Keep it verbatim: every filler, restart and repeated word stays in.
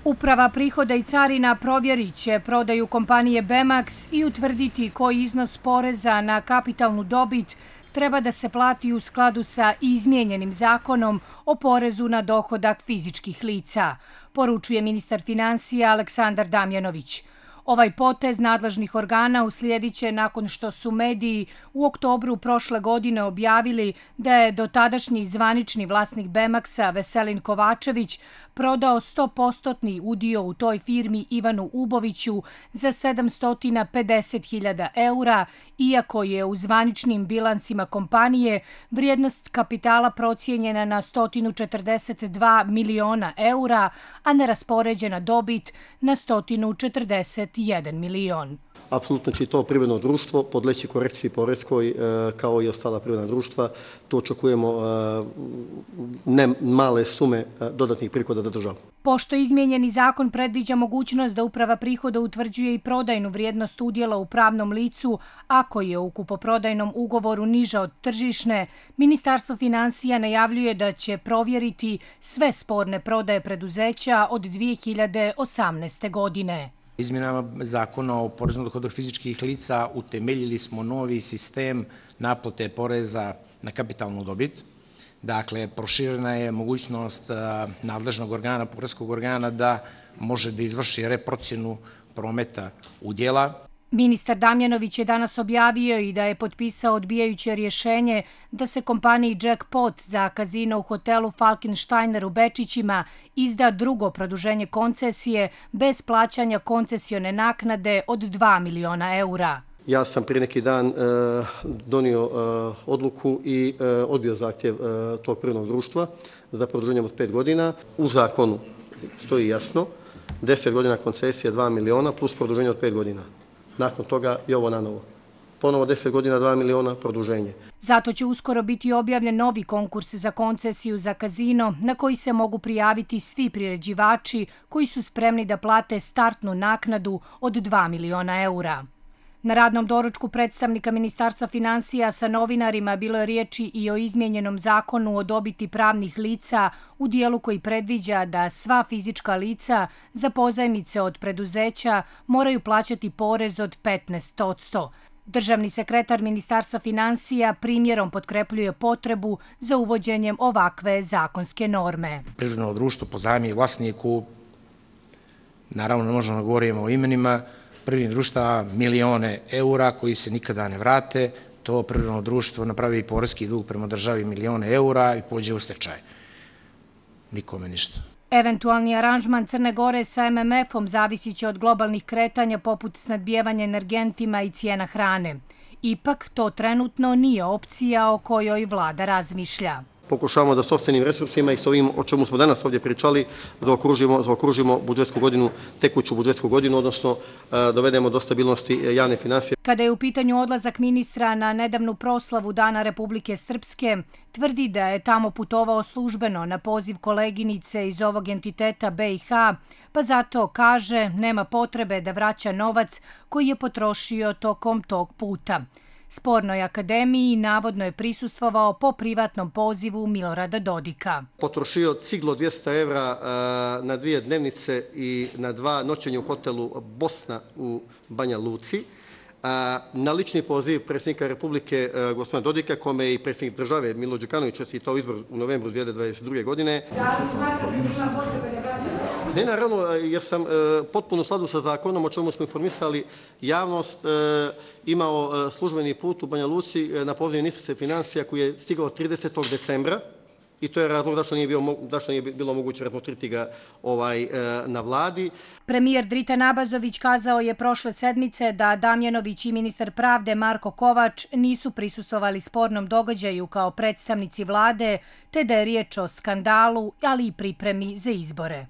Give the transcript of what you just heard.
Uprava prihoda i carina provjerit će prodaju kompanije Bemax i utvrditi koji iznos poreza na kapitalnu dobit treba da se plati u skladu sa izmijenjenim zakonom o porezu na dohodak fizičkih lica, poručuje ministar finansija Aleksandar Damjanović. Ovaj potez nadležnih organa uslijedit će nakon što su mediji u oktobru prošle godine objavili da je dotadašnji zvanični vlasnik Bemaxa Veselin Kovačević prodao sto posto udio u toj firmi Ivanu Uboviću za sedamsto pedeset hiljada eura, iako je u zvaničnim bilansima kompanije vrijednost kapitala procijenjena na sto četrdeset dva miliona eura, a neraspoređena dobit na sto četrdeset jedan milion. Apsolutno će to privredno društvo podleći korekciji poreskoj kao i ostala privredna društva. Tu očekujemo ne male sume dodatnih prihoda za državu. Pošto izmijenjeni zakon predviđa mogućnost da uprava prihoda utvrđuje i prodajnu vrijednost udjela u pravnom licu, ako je u kupoprodajnom ugovoru niža od tržišne, Ministarstvo finansija najavljuje da će provjeriti sve sporne prodaje preduzeća od dvije hiljade osamnaeste. godine. Izmjenama zakona o porezu na dohodak fizičkih lica utemeljili smo novi sistem naplate poreza na kapitalnu dobit. Dakle, proširena je mogućnost nadležnog organa, poreskog organa da može da izvrši reprocjenu prometa udjela. Ministar Damjanović je danas objavio i da je potpisao odbijajuće rješenje da se kompaniji Jackpot za kazino u hotelu Falkensteiner u Bečićima izda drugo produženje koncesije bez plaćanja koncesione naknade od dva miliona eura. Ja sam prije neki dan donio odluku i odbio zahtjev tog privrednog društva za produženjem od pet godina. U zakonu stoji jasno, deset godina koncesije dva miliona plus produženje od pet godina. Nakon toga i ovo na novo. Ponovo deset godina, dva miliona, produženje. Zato će uskoro biti objavljen novi konkurs za koncesiju za kazino na koji se mogu prijaviti svi priređivači koji su spremni da plate startnu naknadu od dva miliona eura. Na radnom doručku predstavnika Ministarstva finansija sa novinarima bilo je riječi i o izmijenjenom zakonu o dobiti pravnih lica u dijelu koji predviđa da sva fizička lica za pozajmice od preduzeća moraju plaćati porez od petnaest posto. Državni sekretar Ministarstva finansija primjerom potkrepljuje potrebu za uvođenjem ovakve zakonske norme. Privredno društvo pozajmi vlasniku, naravno ne možemo da govorimo o imenima, privrednih društva milione eura koji se nikada ne vrate, to privredno društvo napravi poreski dug prema državi milione eura i pođe u stečaj. Nikome ništa. Eventualni aranžman Crne Gore sa M M F-om zavisit će od globalnih kretanja poput snadbijevanja energentima i cijena hrane. Ipak to trenutno nije opcija o kojoj vlada razmišlja. Pokušavamo da sopstvenim resursima i s ovim o čemu smo danas ovdje pričali zaokružimo, zaokružimo budžetsku godinu, tekuću budžetsku godinu, odnosno dovedemo do stabilnosti javne finansije. Kada je u pitanju odlazak ministra na nedavnu proslavu Dana Republike Srpske, tvrdi da je tamo putovao službeno na poziv koleginice iz ovog entiteta B i H, pa zato, kaže, nema potrebe da vraća novac koji je potrošio tokom tog puta. Spornoj akademiji navodno je prisustvovao po privatnom pozivu Milorada Dodika. Potrošio ciglo dvjesto evra na dvije dnevnice i na dva noćenja u hotelu Bosna u Banja Luci. Na lični poziv predsjednika Republike gospodina Dodika, kome je i predsjednik države Milo Đukanović čestitao izbor u novembru dvije hiljade dvadeset druge. godine. Da li smatrate da ima potrebe da vraća? Ne, naravno, jer sam potpuno u skladu sa zakonom, o čemu smo informisali javnost, imao službeni put u Banja Luci na poziv ministrice financija koji je stigao tridesetog decembra i to je razlog zašto nije, bio, zašto nije bilo moguće razmotriti ga ovaj, na vladi. Premijer Drita Nabazović kazao je prošle sedmice da Damjanović i ministar pravde Marko Kovač nisu prisustvovali spornom događaju kao predstavnici vlade, te da je riječ o skandalu, ali i pripremi za izbore.